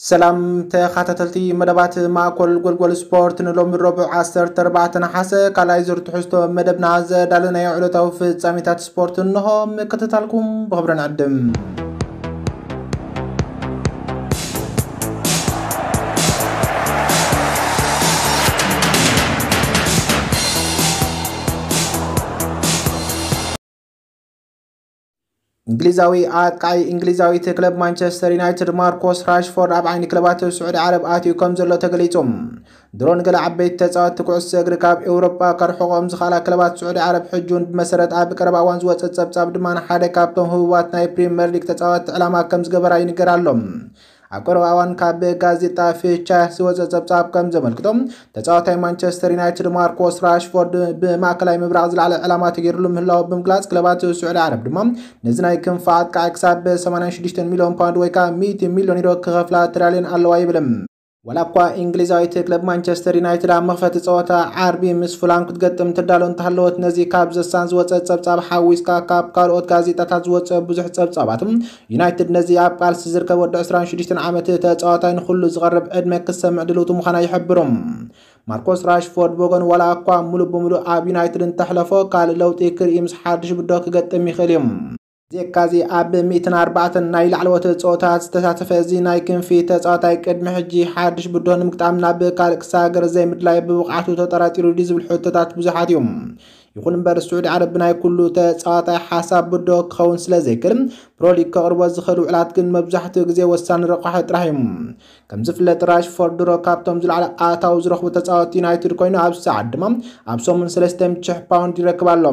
ሰላም ተኸታተልቲ መደባት ማእኮል ጎልጎል ስፖርት፣ ንሎሚ ረቡዕ ዓሰርተ ኣርባዕተ ነሓሰ ካልኣይ ዙር ትሕዝቶ መደብና ዘዳለናዮ ዕለታዊ ፍጻሜታት ስፖርት እንሆ። ምክትታልኩም ብኽብሪ ንዕድም። እንግሊዛዊ ኣጥቃዒ እንግሊዛዊት ክለብ ማንቸስተር ዩናይትድ ማርኮስ ራሽፎርድ ኣብ ዓይኒ ክለባት ስዑዲ ዓረብ ኣትዩ ከም ዘሎ ተገሊጹ። ድሮ ንገለ ዓበይቲ ተጻወትቲ ኩዕሶ እግሪ ካብ ኤውሮጳ ከርሕቖም ዝኽኣላ ክለባት ስዑዲ ዓረብ ሕጂ እውን ብመሰረት ኣብ ቀረባ እዋን ዝወጸ ጸብጻብ ድማ ንሓደ ካብቶም ህቡባት ናይ ፕሪምየር ሊግ ተጻወትቲ ዕላማ ከም ዝገበራ ይንገር ኣሎ። ኣብ ቀረባ እዋን ካብ ጋዜጣ ፊቻ ዝወጸ ጸብጻብ ከም ዘመልክቶ፣ ተጻዋታይ ማንቸስተር ዩናይትድ ማርኮስ ራሽፎርድ ብማእከላይ ምብራቕ ዝለዓለ ዕላማ ተገይርሉ ምህላው ብምግላጽ፣ ክለባት ስዑዲ ዓረብ ድማ ነዚ ናይ ክንፊ ኣጥቃዒ ክሳብ ሰማንያን ሽዱሽተን ሚልዮን ፓውንድ ወይ ከዓ ሚእቲ ሚልዮን ዩሮ ክኸፍላ ተዳልየን ኣለዋ ይብል። ዋላ እኳ እንግሊዛዊት ክለብ ማንቸስተር ዩናይትድ ኣብ መኽፈቲ ጸወታ ዓርቢ ምስ ፉላም ክትገጥም ትዳሎ እንተሃለወት፣ ነዚ ካብ ዘሳን ዝወጸ ጸብጻብ ሓዊስካ ካብ ካልኦት ጋዜጣታት ዝወጸ ብዙሕ ጸብጻባት፣ ዩናይትድ ነዚ ኣብ ቃልሲ ዝርከብ ወዲ ዕስራን ሽዱሽተን ዓመት ተጻዋታይ ንኹሉ ዝቐርብ ዕድመ ክሰምዕ ድልውቲ ምዃና ይሕብሩ። ማርኮስ ራሽፎርድ ብወገኑ ዋላ እኳ ሙሉእ ብሙሉእ ኣብ ዩናይትድ እንተሕለፎ፣ ካልእ ለውጢ ክርኢ ምስ ሓድሽ ብዶ ክገጥም ይኽእል እዩ። ዜካዚ ኣብ ሚእትን ኣርባዕተን ናይ ላዕለዎት ጸወታት ዝተሳተፈ እዚ ናይ ክንፊ ተጻዋታይ ቅድሚ ሕጂ ሓድሽ ብዶ ንምግጣም ናብ ካልእ ክሳገር ዘይምድላይ ብብቕዓቱ ተጠራጢሩ ድዩ ዝብል ሕቶታት ብዙሓት እዮም። ይኹን እምበር ስዑዲ ዓረብ ብናይ ኩሉ ተጻዋታይ ሓሳብ ብዶ ክኸውን ስለ ዘይክእል፣ ፕሮሊግ ከቕርቦ ዝኽእል ውዕላት ግን መብዛሕትኡ ግዜ ወሳኒ ረቋሒ ጥራሕ እዩ። ከም ዝፍለጥ ራሽፎርድ ድሮ ካብቶም ዝለዓለ ኣታዊ ዝረኽቡ ተጻወትቲ ዩናይትድ ኮይኑ፣ ኣብዚ ሰዓት ድማ ኣብ ሰሙን ሰለስተ ሚእቲ ሽሕ ፓውንድ ይረክብ ኣሎ።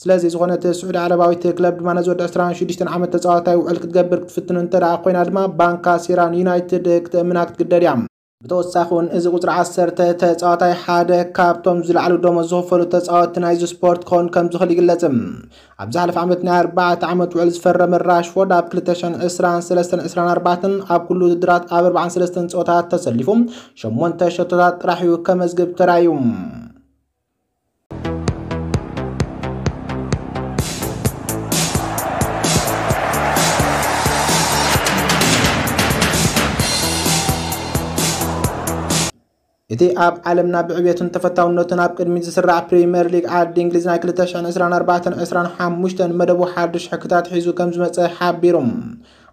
ስለዚ ዝኾነት ስዑዲ ዓረባዊት ክለብ ድማ ነዚ ወዲ ዕስራን ሽዱሽተን ዓመት ተጻዋታይ ውዕል ክትገብር ክትፍትን እንተ ደኣ ኮይና ድማ፣ ባንካ ሴራ ንዩናይትድ ክትእምና ክትግደድ እያ። ብተወሳኺ እውን እዚ ቁጽሪ ዓሰርተ ተጻዋታይ ሓደ ካብቶም ዝለዓሉ ደሞዝ ዝኽፈሉ ተጻወትቲ ናይዚ ስፖርት ክኸውን ከም ዝኽእል ይግለጽ። ኣብ ዝሓለፈ ዓመት ናይ ኣርባዕተ ዓመት ውዕል ዝፈረመ ራሽፎርድ ኣብ ክልተ ሽሕን ዕስራን ሰለስተን ዕስራን ኣርባዕተን ኣብ ኩሉ ውድድራት ኣብ ኣርባዓን ሰለስተን ጸወታታት ተሰሊፉ ሸሞንተ ሸቶታት ጥራሕ እዩ ከመዝግብ ተራእዩ። እቲ ኣብ ዓለምና ብዕብየቱን ተፈታውነቱን ኣብ ቅድሚት ዝስራዕ ፕሪምየር ሊግ ዓዲ እንግሊዝ ናይ ክልተ ሽሕን ዕስራን ኣርባዕተን ዕስራን ሓሙሽተን መደቡ ሓድሽ ሕግታት ሒዙ ከም ዝመጸ ሓቢሩ።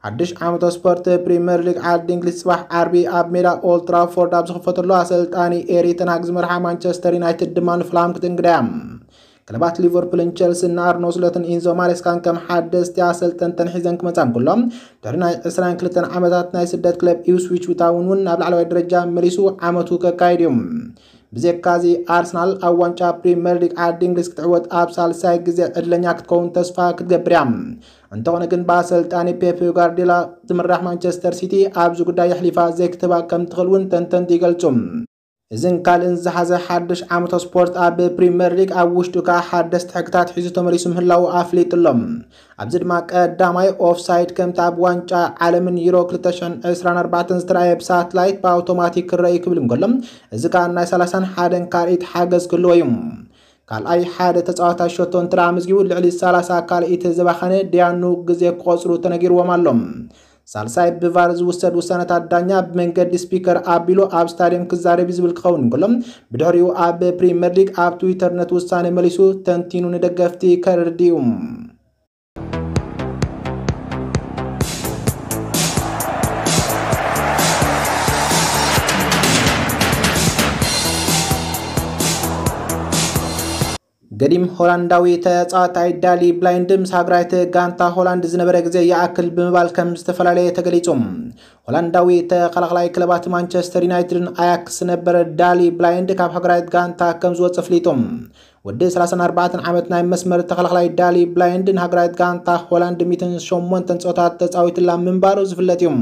ሓድሽ ዓመተ ስፖርት ፕሪምየር ሊግ ዓዲ እንግሊዝ ጽባሕ ዓርቢ ኣብ ሜዳ ኦልድ ትራፎርድ ኣብ ዝኽፈተሉ፣ ኣሰልጣኒ ኤሪ ተን ሃግ ዝመርሓ ማንቸስተር ዩናይትድ ድማ ንፍላም ክትእንግዳ እያ። ክለባት ሊቨርፑልን ቸልሲን ንኣርነ ስሎትን ኢንዞ ማሬስካን ከም ሓደስቲ ኣሰልጠንተን ሒዘን ክመጻ እንከሎ፣ ድሕሪ ናይ ዕስራን ክልተን ዓመታት ናይ ስደት ክለብ ኢፕስዊች ታውን እውን ናብ ላዕለዋይ ደረጃ መሊሱ ዓመቱ ከካይድ እዩ። ብዘይካዚ ኣርሰናል ኣብ ዋንጫ ፕሪምየር ሊግ ዓዲ እንግሊዝ ክትዕወት ኣብ ሳልሳይ ግዜ ዕድለኛ ክትከውን ተስፋ ክትገብር እያ። እንተኾነ ግን ብኣሰልጣኒ ፔፕ ጋርዲዮላ ዝምራሕ ማንቸስተር ሲቲ ኣብዚ ጉዳይ የሕሊፋ ዘይክትህባ ከም ትኽእል እውን ተንተንቲ ይገልጹ። እዝን ካልእን ዝሓዘ ሓድሽ ዓመተ ስፖርት ኣብ ፕሪምየር ሊግ ኣብ ውሽጡ ከኣ ሓደስቲ ሕግታት ሒዙ ተመሊሱ ምህላዉ ኣፍሊጡ ኣሎ። ኣብዚ ድማ ቀዳማይ ኦፍሳይድ ከምቲ ኣብ ዋንጫ ዓለምን ዩሮ ክልተ ሽሕን ዕስራን ኣርባዕተን ዝተራእየ ብሳትላይት ብኣውቶማቲክ ክረኣዩ ክብል እንከሎ፣ እዚ ከኣ ናይ ሰላሳን ሓደን ካልኢት ሓገዝ ክህልዎ እዩ። ካልኣይ ሓደ ተጻዋታይ ሸቶ እንተ ደኣ ኣመዝጊቡ ልዕሊ ሰላሳ ካልኢት ዝባኸነ ደያኑ ግዜ ክቖጽሩ ተነጊርዎም ኣሎ። ሳልሳይ ብቫር ዝውሰድ ውሳነታት ዳኛ ብመንገዲ ስፒከር ኣቢሉ ኣብ ስታድየም ክዛረብ እዩ ዝብል ክኸውን እንከሎ፣ ብድሕሪኡ ኣብ ፕሪምየር ሊግ ኣብ ትዊተር ነቲ ውሳነ መሊሱ ተንቲኑ ንደገፍቲ ከረድእ እዩ። ገዲም ሆላንዳዊ ተጻዋታይ ዳሊ ብላይንድ ምስ ሃገራዊት ጋንታ ሆላንድ ዝነበረ ግዜ ይኣክል ብምባል ከም ዝተፈላለየ ተገሊጹ። ሆላንዳዊ ተኸላኻላይ ክለባት ማንቸስተር ዩናይትድን ኣያክስ ዝነበረ ዳሊ ብላይንድ ካብ ሃገራዊት ጋንታ ከም ዝወጸ ኣፍሊጡ። ወዲ ሰላሳን ኣርባዕተን ዓመት ናይ መስመር ተኸላኻላይ ዳሊ ብላይንድ ንሃገራዊት ጋንታ ሆላንድ ሚእትን ሸሞንተን ጸወታት ተጻዊትላ ምንባሩ ዝፍለጥ እዩ።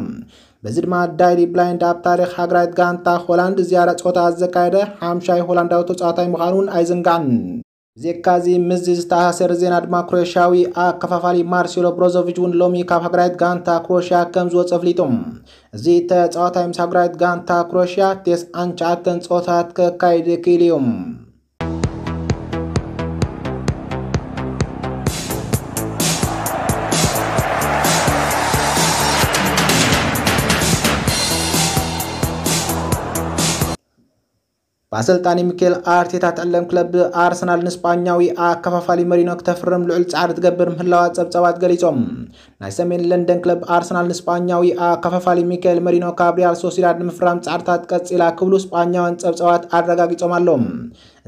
በዚ ድማ ዳሊ ብላይንድ ኣብ ታሪኽ ሃገራዊት ጋንታ ሆላንድ ዝያዳ ጸወታ ዘካየደ ሓምሻይ ሆላንዳዊ ተጻዋታይ ምዃኑ እውን ኣይዝንጋዕን። ብዘይካዚ ምስዚ ዝተኣሳሰረ ዜና ድማ ክሮኤሽያዊ ኣከፋፋሊ ማርሴሎ ብሮዞቪች እውን ሎሚ ካብ ሃገራዊት ጋንታ ክሮኤሽያ ከም ዝወጸ ኣፍሊጡ። እዚ ተጻዋታይ ምስ ሃገራዊት ጋንታ ክሮኤሽያ ተስዓን ትሽዓተን ጸወታት ከካይድ ክኢሉ እዩ። ብኣሰልጣኒ ሚኬል ኣርቴታ ትዕለም ክለብ ኣርሰናል ንስጳኛዊ ኣከፋፋሊ መሪኖ ክተፍርም ልዑል ጻዕሪ ትገብር ምህላዋ ጸብጻባት ገሊጾም። ናይ ሰሜን ለንደን ክለብ ኣርሰናል ንስጳኛዊ ኣከፋፋሊ ሚኬል መሪኖ ካብ ሪያል ሶሲዳድ ንምፍራም ጻዕርታት ቀጺላ ክብሉ ስጳኛውያን ጸብጻባት ኣረጋጊጾም ኣለዉ።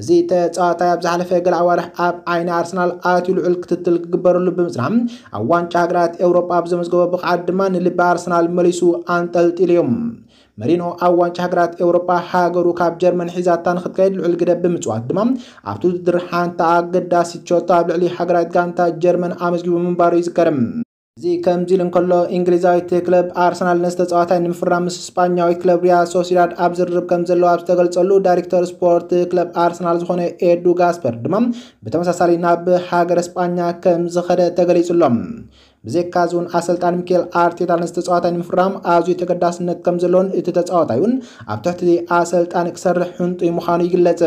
እዚ ተጻዋታይ ኣብ ዝሓለፈ ገለ ኣዋርሕ ኣብ ዓይኒ ኣርሰናል ኣትዩ ልዑል ክትትል ክግበረሉ ብምጽናሕ፣ ኣብ ዋንጫ ሃገራት ኤውሮጳ ኣብ ዘመዝገቦ ብቕዓት ድማ ንልቢ ኣርሰናል መሊሱ ኣንጠልጢሉ እዩ። መሪኖ ኣብ ዋንጫ ሃገራት ኤውሮጳ ሃገሩ ካብ ጀርመን ሒዛታ ንክትከይድ ልዑል ግደ ብምጽዋት ድማ ኣብቲ ውድድር ሓንቲ ኣገዳሲት ሸቶ ኣብ ልዕሊ ሃገራዊት ጋንታ ጀርመን ኣመዝጊቡ ምንባሩ ይዝከር። እዚ ከምዚ ኢሉ እንከሎ፣ እንግሊዛዊት ክለብ ኣርሰናል ነዚ ተጻዋታይ ንምፍራም ምስ ስጳኛዊት ክለብ ሪያል ሶሲዳድ ኣብ ዝርርብ ከም ዘለዋ ኣብ ዝተገልጸሉ፣ ዳይሬክተር ስፖርት ክለብ ኣርሰናል ዝኾነ ኤዱ ጋስፐር ድማ ብተመሳሳሊ ናብ ሃገረ ስጳኛ ከም ዝኸደ ተገሊጹ ኣሎ። ብዘይካዚ እውን ኣሰልጣኒ ሚኬል ኣርቴታ ነዚ ተጻዋታይ ንምፍራም ኣዝዩ ተገዳስነት ከም ዘለዎን እቲ ተጻዋታይ እውን ኣብ ትሕቲ ኣሰልጣኒ ክሰርሕ ሕንጡይ ምዃኑ ይግለጽ።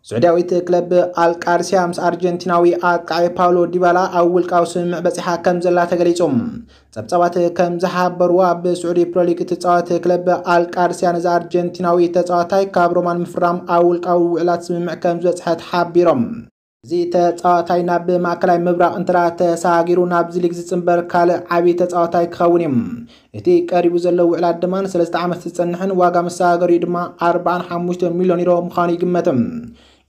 ስዑድያዊት ክለብ ኣልቃድስያ ምስ ኣርጀንቲናዊ ኣጥቃዒ ፓውሎ ዲባላ ኣብ ውልቃዊ ስምምዕ በጺሓ ከም ዘላ ተገሊጹ። ጸብጻባት ከም ዝሓበርዎ፣ ኣብ ስዑዲ ፕሮሊግ እትጻወት ክለብ ኣልቃድስያ ነዚ ኣርጀንቲናዊ ተጻዋታይ ካብ ሮማ ንምፍራም ኣብ ውልቃዊ ውዕላት ስምምዕ ከም ዝበጽሐት ሓቢሮም። እዚ ተጻዋታይ ናብ ማእከላይ ምብራቕ እንተ ተሳጊሩ ናብዚ ሊግ ዝጽንበር ካልእ ዓቢ ተጻዋታይ ክኸውን እዩ። እቲ ቀሪቡ ዘሎ ውዕላት ድማ ንሰለስተ ዓመት ዝጸንሕን ዋጋ መሰጋገሪኡ ድማ ኣርባዓን ሓሙሽተ ሚልዮን ዩሮ ምዃኑ ይግመት።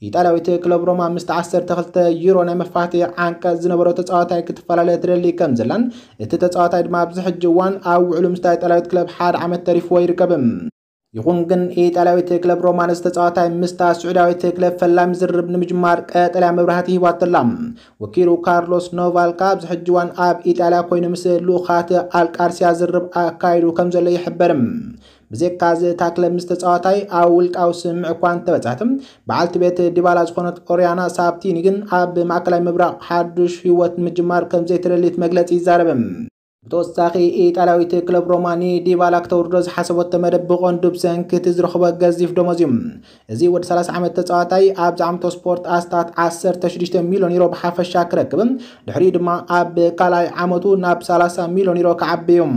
ኢጣልያዊት ክለብ ሮማ ምስቲ ዓሰርተ ክልተ ዩሮ ናይ መፋትሒ ዓንቀጽ ዝነበሮ ተጻዋታይ ክትፈላለ ትደሊ ከም ዘላን እቲ ተጻዋታይ ድማ ኣብዚ ሕጂ እዋን ኣብ ውዕሉ ምስታ ኢጣልያዊት ክለብ ሓደ ዓመት ተሪፍዎ ይርከብ። ይኹን ግን ኢጣልያዊት ክለብ ሮማ ነዚ ተጻዋታይ ምስታ ስዑዳዊት ክለብ ፈላሚ ዝርርብ ንምጅማር ቀጠልያ መብራህቲ ሂባቶ ኣላ። ወኪሉ ካርሎስ ኖቫልካ ኣብዚ ሕጂ እዋን ኣብ ኢጣልያ ኮይኑ ምስ ልኡኻት ኣልቃርሲያ ዝርርብ ኣካይዱ ከም ዘሎ ይሕበር። ብዘይካዚ እታ ክለብ ምስ ተጻዋታይ ኣብ ውልቃዊ ስምምዕ እኳ እንተበጽሐት፣ በዓልቲ ቤት ዲባላ ዝኾነት ኦሪያና ሳብቲኒ ግን ኣብ ማእከላይ ምብራቕ ሓዱሽ ህይወት ምጅማር ከም ዘይትደሊ እቲ መግለጺ ይዛረብ። ብተወሳኺ ኢጣልያዊት ክለብ ሮማ ንዲባላ ክተውርዶ ዝሓሰበቶ መደብ ብቐንዱ ብሰንኪ እቲ ዝረኽቦ ገዚፍ ደሞዝ እዩ። እዚ ወዲ ሰላሳ ዓመት ተጻዋታይ ኣብዚ ዓመተ ስፖርት ኣስታት ዓሰርተ ሽዱሽተ ሚልዮን ዩሮ ብሓፈሻ ክረክብ፣ ድሕሪኡ ድማ ኣብ ካልኣይ ዓመቱ ናብ ሰላሳ ሚልዮን ዩሮ ክዓቢ እዩ።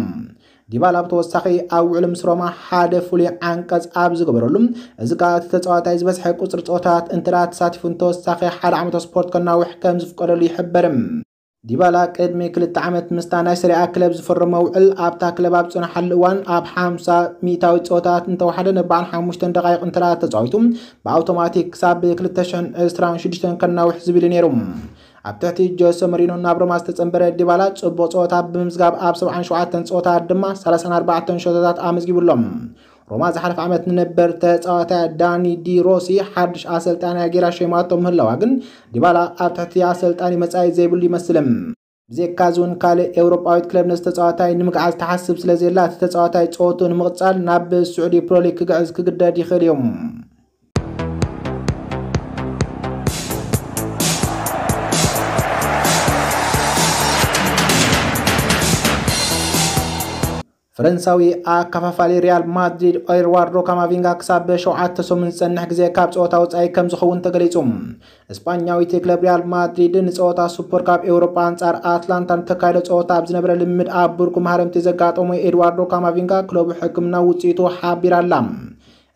ዲባላ ብተወሳኺ ኣብ ውዕሉ ምስ ሮማ ሓደ ፍሉይ ዓንቀጽ ኣብ ዝገበረሉ፣ እዚ ከኣ እቲ ተጻዋታይ ዝበዝሐ ቁጽሪ ጸወታት እንተ ደኣ ተሳቲፉ ንተወሳኺ ሓደ ዓመተ ስፖርት ከናውሕ ከም ዝፍቀደሉ ይሕበር። ዲባላ ቅድሚ ክልተ ዓመት ምስታ ናይ ሰሪኣ ክለብ ዝፈረሞ ውዕል ኣብታ ክለብ ኣብ ዝጸንሓሉ እዋን ኣብ ሓምሳ ሚእታዊት ጸወታት እንተወሓደ ንኣርባዓን ሓሙሽተን ደቓይቕ እንተ ደኣ ተጻዊቱ ብኣውቶማቲክ ክሳብ ክልተ ሽሕን ዕስራን ሽዱሽተን ከናውሕ ዝብል እዩ ነይሩ። ኣብ ትሕቲ ጆሰ መሪኖ ናብ ሮማ ዝተጸንበረ ዲባላ ጽቡቕ ጸወታ ብምምዝጋብ ኣብ ሰብዓን ሸውዓተን ጸወታት ድማ ሰላሳን ኣርባዕተን ሸቶታት ኣመዝጊቡ ኣሎ። ሮማ ዝሓለፈ ዓመት ንነበር ተጻዋታይ ዳኒ ዲ ሮሲ ሓድሽ ኣሰልጣንያ ጌራ ሸይማቶ ምህላዋ ግን ዲባላ ኣብ ትሕቲ ኣሰልጣኒ መጻኢ ዘይብሉ ይመስል። ብዘይካዚ እውን ካልእ ኤውሮጳዊት ክለብ ነዚ ተጻዋታይ ንምግዓዝ ትሓስብ ስለ ዘየላ እቲ ተጻዋታይ ጸወቱ ንምቕጻል ናብ ስዑዲ ፕሮሊግ ክግዕዝ ክግደድ ይኽእል እዩ። ፈረንሳዊ ኣከፋፋሊ ሪያል ማድሪድ ኤድዋርዶ ካማቪንጋ ክሳብ ሸውዓተ ሰሙን ዝጸንሕ ግዜ ካብ ጸወታ ወጻኢ ከም ዝኸውን ተገሊጹ። እስጳኛዊት ክለብ ሪያል ማድሪድ ንጸወታ ሱፐር ካፕ ኤውሮጳ ኣንጻር ኣትላንታ ንተካይዶ ጸወታ ኣብ ዝነበረ ልምምድ ኣብ ብርኩ ማህረምቲ ዘጋጠሞ ኤድዋርዶ ካማቪንጋ ክለቡ ሕክምና ውጽኢቱ ሓቢራ ኣላ።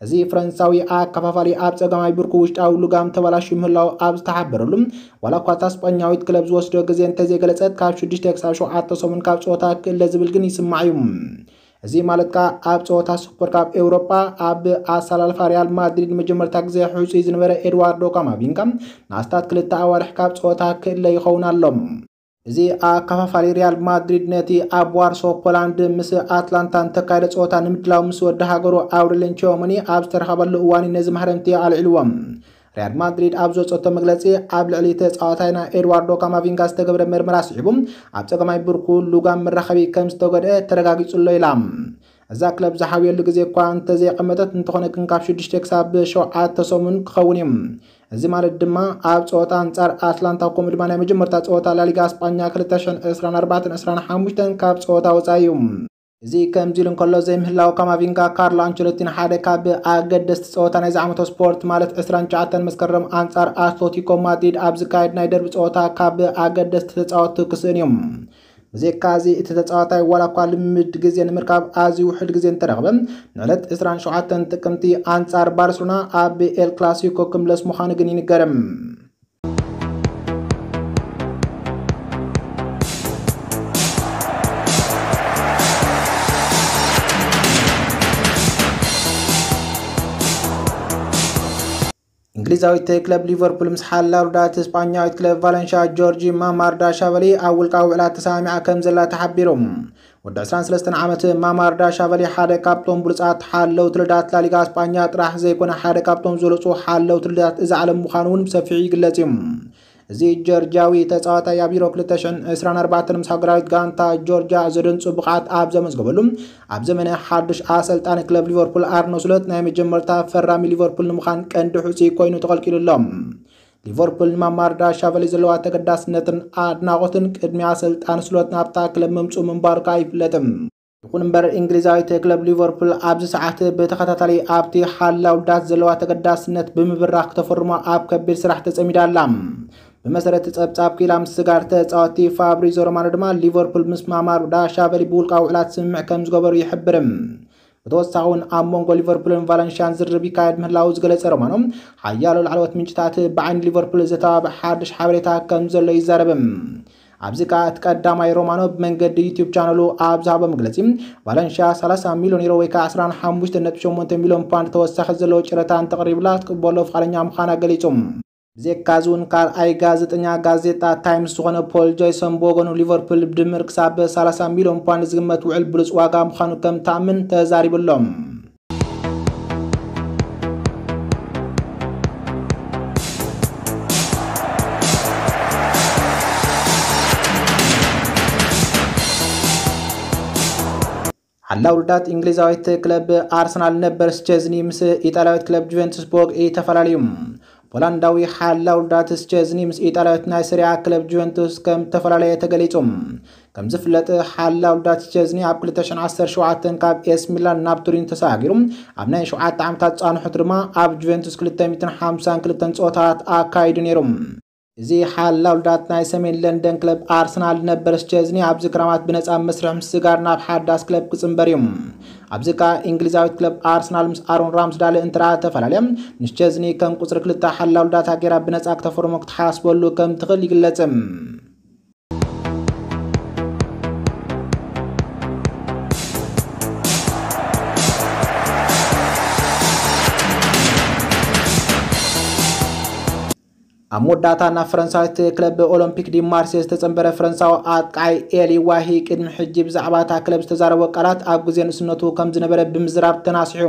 እዚ ፈረንሳዊ ኣከፋፋሊ ኣብ ጸጋማይ ብርኩ ውሽጣዊ ልጋም ተበላሽዩ ምህላው ኣብ ዝተሓበረሉ፣ ዋላ እኳ እታ ስጳኛዊት ክለብ ዝወስዶ ግዜ እንተዘይገለጸት፣ ካብ ሽዱሽተ ክሳብ ሸውዓተ ሰሙን ካብ ጸወታ ክእለ ዝብል ግን ይስማዕ እዩ። እዚ ማለት ከኣ ኣብ ጸወታ ሱፐር ካፕ ኤውሮጳ ኣብ ኣሰላልፋ ሪያል ማድሪድ መጀመርታ ግዜ ሕጹይ ዝነበረ ኤድዋርዶ ካማቪንጋ ንኣስታት ክልተ ኣዋርሕ ካብ ጸወታ ክእለ ይኸውን ኣሎ። እዚ ኣከፋፋሊ ሪያል ማድሪድ ነቲ ኣብ ዋርሶ ፖላንድ ምስ ኣትላንታ ንተካየደ ጸወታ ንምድላው ምስ ወዲ ሃገሩ ኣውሬልየን ቺዮመኒ ኣብ ዝተረኸበሉ እዋን እዩ ነዚ ማህረምቲ ኣልዒልዎም። ሪያል ማድሪድ ኣብ ዘውጸቶ መግለጺ ኣብ ልዕሊ ተጻዋታይና ኤድዋርዶ ካማቪንጋ ዝተገብረ መርመራ ስዒቡ ኣብ ጸገማይ ብርኩ ሉጋም መራኸቢ ከም ዝተጎድአ ተረጋጊጹ ኣሎ ኢላ። እዛ ክለብ ዝሓውየሉ ግዜ እኳ እንተዘይቐመጠት እንተኾነ ግን ካብ ሽዱሽተ ክሳብ ሸውዓተ ሰሙን ክኸውን እዩ። እዚ ማለት ድማ ኣብ ጸወታ ኣንጻር ኣትላንታ ከምኡ ድማ ናይ መጀመርታ ጸወታ ላሊጋ ስጳኛ ክልተ ሽሕን ዕስራን ኣርባዕተን ዕስራን ሓሙሽተን ካብ ጸወታ ወጻኢ እዩ። እዚ ከምዚ ኢሉ እንከሎ፣ ዘይምህላው ካማቪንጋ፣ ካርሎ ኣንቸሎቲን ሓደ ካብ ኣገደስቲ ጸወታ ናይዚ ዓመታዊ ስፖርት፣ ማለት ዕስራን ትሽዓተን መስከረም ኣንጻር ኣትሌቲኮ ማድሪድ ኣብ ዝካየድ ናይ ደርቢ ጸወታ ካብ ኣገደስቲ ተጻወትቲ ክስእን እዮም። ብዘይካ እዚ፣ እቲ ተጻዋታይ ዋላ እኳ ልምድ ግዜ ንምርካብ ኣዝዩ ውሑድ ግዜ እንተረኽበ፣ ንዕለት ዕስራን ሸውዓተን ጥቅምቲ ኣንጻር ባርሴሎና ኣብ ኤል ክላሲኮ ክምለስ ምዃኑ ግን ይንገርም። እንግሊዛዊት ክለብ ሊቨርፑል ምስ ሓላው ዳት ስጳኛዊት ክለብ ቫለንሻ ጆርጂ ማማርዳሻቨሊ ኣብ ውልቃዊ ውዕላት ተሰማሚዓ ከም ዘላ ተሓቢሩ። ወዲ ዕስራን ሰለስተን ዓመት ማማርዳሻቨሊ ሓደ ካብቶም ብሉጻት ሓለውቲ ልዳት ላሊጋ ስጳኛ ጥራሕ ዘይኮነ፣ ሓደ ካብቶም ዝበለጹ ሓለውቲ ልዳት እዛ ዓለም ምዃኑ እውን ብሰፊሑ ይግለጽ እዩ። እዚ ጆርጂያዊ ተጻዋታይ ኣብ ዩሮ ክልተ ሽሕን ዕስራን ኣርባዕተን ምስ ሃገራዊት ጋንታ ጆርጂያ ዘደንጹ ብቕዓት ኣብ ዘመዝገበሉ፣ ኣብ ዘመነ ሓድሽ ኣሰልጣኒ ክለብ ሊቨርፑል ኣርነ ስሎት ናይ መጀመርታ ፈራሚ ሊቨርፑል ንምዃን ቀንዲ ሕጹይ ኮይኑ ተቐልቂሉ ኣሎ። ሊቨርፑል ንማማርዳሻቨሊ ዘለዋ ተገዳስነትን ኣድናቖትን ቅድሚ ኣሰልጣኒ ስሎት ናብታ ክለብ ምምጽኡ ምንባሩ ከኣ ይፍለጥ። ይኹን እምበር፣ እንግሊዛዊት ክለብ ሊቨርፑል ኣብዚ ሰዓት ብተኸታታሊ ኣብቲ ሓላው ልዳት ዘለዋ ተገዳስነት ብምብራኽ ክተፈርሞ ኣብ ከቢድ ስራሕ ተጸሚዳ ኣላ። ብመሰረት ጸብጻብ ክኢላ ምስግጋር ተጻወትቲ፣ ፋብሪዞ ሮማኖ ድማ ሊቨርፑል ምስ ማማርዳሻቨሊ ብውልቃዊ ውዕላት ስምምዕ ከም ዝገበሩ ይሕብር። ብተወሳኺ እውን ኣብ መንጎ ሊቨርፑልን ቫለንሽያን ዝርርብ ይካየድ ምህላዉ ዝገለጸ ሮማኖ፣ ሓያሎ ላዕለዎት ምንጭታት ብዓይኒ ሊቨርፑል ዘተባብዕ ሓድሽ ሓበሬታ ከም ዘሎ ይዛረብ። ኣብዚ ከኣ እቲ ቀዳማይ ሮማኖ ብመንገዲ ዩቱብ ቻነሉ ኣብ ዝሃቦ መግለጺ፣ ቫለንሽያ ሰላሳ ሚልዮን ዩሮ ወይ ከኣ ዕስራን ሓሙሽተን ነጥቢ ሸሞንተ ሚልዮን ፓውንድ ተወሳኺ ዘለዎ ጨረታ እንተቕሪብላ ክትቅበሎ ፍቓደኛ ምዃና ገሊጹ። ብዘይካዚ እውን ካልኣይ ጋዜጠኛ ጋዜጣ ታይምስ ዝኾነ ፖል ጆይሰን ብወገኑ፣ ሊቨርፑል ብድምር ክሳብ ሰላሳ ሚልዮን ፓውንድ ዝግመት ውዕል ብሉጽ ዋጋ ምዃኑ ከም ተኣምን ተዛሪቡ ኣሎ። ሓላው ልዳት እንግሊዛዊት ክለብ ኣርሰናል ነበር ስቼዝኒ ምስ ኢጣልያዊት ክለብ ጁቬንቱስ ብወግዒ ተፈላለዩ። ፖላንዳዊ ሓላው ልዳት ስቼዝኒ ምስ ኢጣልያዊት ናይ ሰሪያ ክለብ ጁቬንቱስ ከም ተፈላለየ ተገሊጹ። ከም ዝፍለጥ፣ ሓላው ልዳት ስቼዝኒ ኣብ ክልተ ሽሕን ዓሰርተ ሸውዓተን ካብ ኤስ ሚላን ናብ ቱሪን ተሰጋጊሩ፣ ኣብ ናይ ሸውዓተ ዓመታት ጻንሖት ድማ ኣብ ጁቬንቱስ ክልተ ሚእትን ሓምሳን ክልተን ጸወታት ኣካይዱ ነይሩ። እዚ ሓላው ልዳት ናይ ሰሜን ለንደን ክለብ ኣርሰናል ነበር ስቼዝኒ ኣብዚ ክራማት ብነጻ መስርሕ ምስጋር ናብ ሓዳስ ክለብ ክጽንበር እዩ። ኣብዚ ከኣ እንግሊዛዊት ክለብ ኣርሰናል ምስ ኣሮን ራምስዳል እንትርኣ ተፈላለየ፣ ንስቼዝኒ ከም ቁጽሪ ክልተ ሓላው ልዳታ ገይራ ብነጻ ክተፈርሞ ክትሓስበሉ ከም ትኽእል ይግለጽ። ኣብ መወዳእታ፣ ናብ ፈረንሳዊት ክለብ ኦሎምፒክ ዲ ማርሴ ዝተጸንበረ ፈረንሳዊ ኣጥቃዓይ ኤሊ ዋሂ፣ ቅድሚ ሕጂ ብዛዕባ እታ ክለብ ዝተዛረቦ ቃላት ኣብ ግዜ ንእስነቱ ከም ዝነበረ ብምዝራብ ተናሲሑ።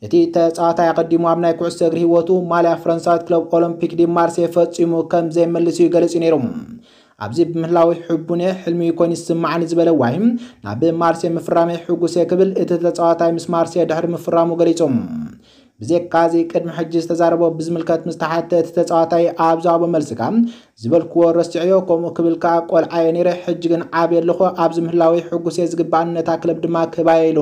እቲ ተጻዋታይ ኣቐዲሙ ኣብ ናይ ኩዕሶ እግሪ ህይወቱ ማልያ ፈረንሳዊት ክለብ ኦሎምፒክ ዲ ማርሴ ፈጺሙ ከም ዘይመልስ እዩ ገሊጹ ነይሩ። ኣብዚ ብምህላወይ ሕቡን እየ፣ ሕልሚ ኮይኑ ይስምዓኒ ዝበለ ዋሂ፣ ናብ ማርሴ ምፍራመይ ሕጉስ እየ ክብል እቲ ተጻዋታይ ምስ ማርሴ ድሕሪ ምፍራሙ ገሊጹ። ብዘይካዚ፣ ቅድሚ ሕጂ ዝተዛረቦ ብዝምልከት ምስ ተሓተ፣ እቲ ተጻዋታይ ኣብ ዝሃቦ መልሲ ከኣ፣ ዝበልክዎ ረሲዐዮ፣ ከምኡ ክብል ከኣ ቆልዓ እየ ነይረ፣ ሕጂ ግን ዓብየ ኣለኹ፣ ኣብዚ ምህላወይ ሕጉስ እየ፣ ዝግባኣኒ ነታ ክለብ ድማ ክህባ እየ ኢሉ።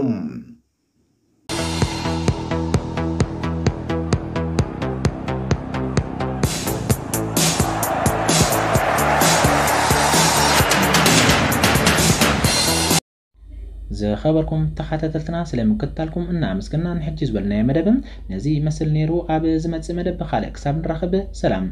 ዝኸበርኩም ተኸታተልትና፣ ስለ ምክትታልኩም እናኣመስገና፣ ንሕጂ ዝበልናዮ መደብ ነዚ ይመስል ነይሩ። ኣብ ዝመጽእ መደብ ብኻልእ ክሳብ ንራኸብ፣ ሰላም።